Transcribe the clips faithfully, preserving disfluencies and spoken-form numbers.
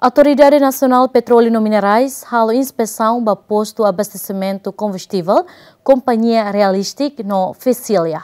Autoridade Nasionál Petróleu no Minerais halo inspesaun ba postu abastesimentu kombustivel kompañia Realistic no Fecília.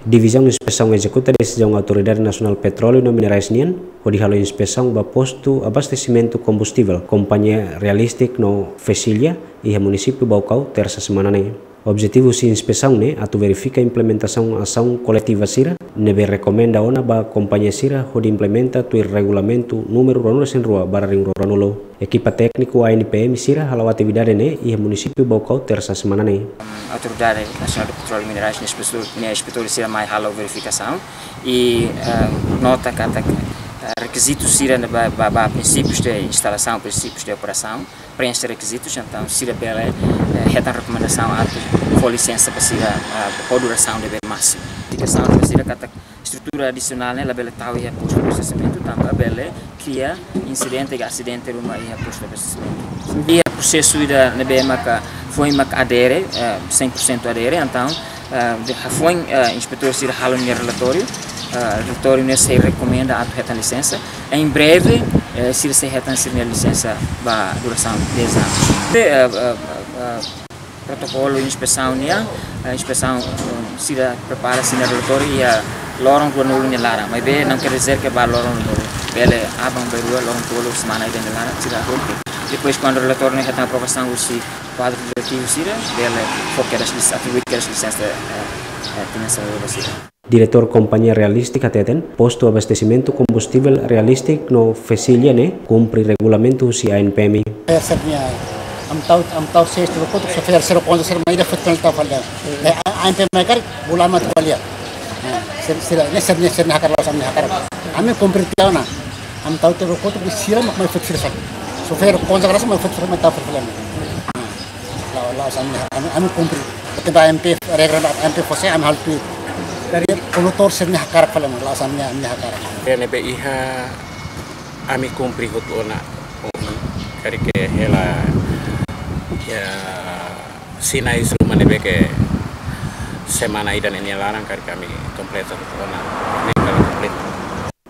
Divizaun Inspesaun ezekuta desizaun Autoridade Nasionál Petróleu no Minerais nian, hodi halo inspesaun ba postu abastesimentu kombustivel kompañia Realistic no Fecília, iha munisípiu Baucau, tersa semana ne'e. Objetivu husi inspesaun ne'e atu verifika implementasaun asaun koletiva sira ne'ebé rekomenda ona ba kompañia sira hodi implementa tuir regulamentu númeru ruanulu-resin-rua barra ringrua ruanulu. Ekipa tékniku A N P M sira hala'o atividade ne'e iha munisípiu Baucau, tersa semana ne'e. Autoridade Nasionál de Petróleu e Minerais nia inspetór, nia inspetór sira mai halo verifikasaun i, eh, nota katak, eh, rekizitu sira ne'ebé ba, ba, ba prinsípius de instalasaun, prinsípius de operasaun, preenxe rekizitus, entaun sira bele, eh, hetan rekomendasaun atu fó lisensa ba sira, eh, ho durasaun ne'ebé másimu. Indikasaun ba sira katak estrutura adisionál ne'e labele tau iha postu abastesimentu, tanba bele kria insidente ka asidente ruma iha postu abastesimentu. Iha prosesu ida ne'ebé maka foin maka adere, eh, cem por cento adere, entaun, eh, de hafoin, eh, inspetór sira halo nia relatóriu, eh, relatóriu ne'e sei rekomenda atu hetan lisensa. Em breve, eh, sira sei hetan sira-nia lisensa ba durasaun dez anos. Eh, eh, eh, eh, protokolu inspesaun nian, eh, inspesaun, eh, sira prepara sira-nia relatóriu iha loron ruanulu nia laran. Maibé não quer dizer que ba loron ruanulu. Bele aban-bainrua, loron tolu, semana ida nia laran, sira hotu. Depois, kuandu relatóriu ne'e hetan aprovasaun husi kuadru diretivu sira, bele fó kedas lis-, atribui kedas lisensa, eh, eh, finanseiru ba sira. Diretór kompañia Realistic hateten, postu abastesimentu kombustivel Realistic no Fecília ne'e kumpre regulamentu husi A N P M. Sira-nia, ami tau, ami tau seis tulu kotuk, sira, sira konta sira mai ida fut kan tau fali. Eh, A-, A N P M karik, bula mat fali. Eh, sira, sira, ne'e sira-nia, sira-nia hakarak, la'ós ami-nia hakarak. Ami kumpre tiha ona. Ami tau tulu kotuk, sira mak mai fut sira sal. Sira konta sira mai fut sira mai tau fali. La'o, la'ós ami, ami, ami kumpre. Tanba A N P, regra A N P fó sai ami halo tuir. Dari kondutór sira-nia hakarak fali, la'ós ami, ami hakarak. Ne'ebé iha ami kumpre hotu ona. Karik hela, ya, sinais ruma ne'ebé ke semana ida nia laran karik ami kompleta hotu ona. Ne'e kala kompleta.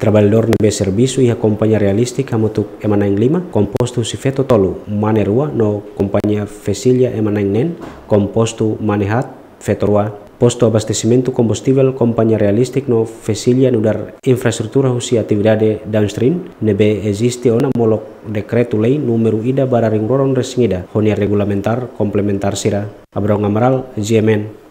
Traballadór ne'ebé servisu iha kompañia Realistic hamutuk ema na'in lima, kompostu husi feto tolu, mane rua, no kompañia Fecília ema na'in neen, kompostu mane haat, feto rua. Postu abastesimentu kombustivel kompañia Realistic no Fecília nu'udar infraestrutura husi atividade downstream ne'ebé eziste ona molok dekretu-lei númeru ida barra ringrua ruanulu-resin-ida, ho nia regulamentár komplementár sira. Abrão Amaral, G M N.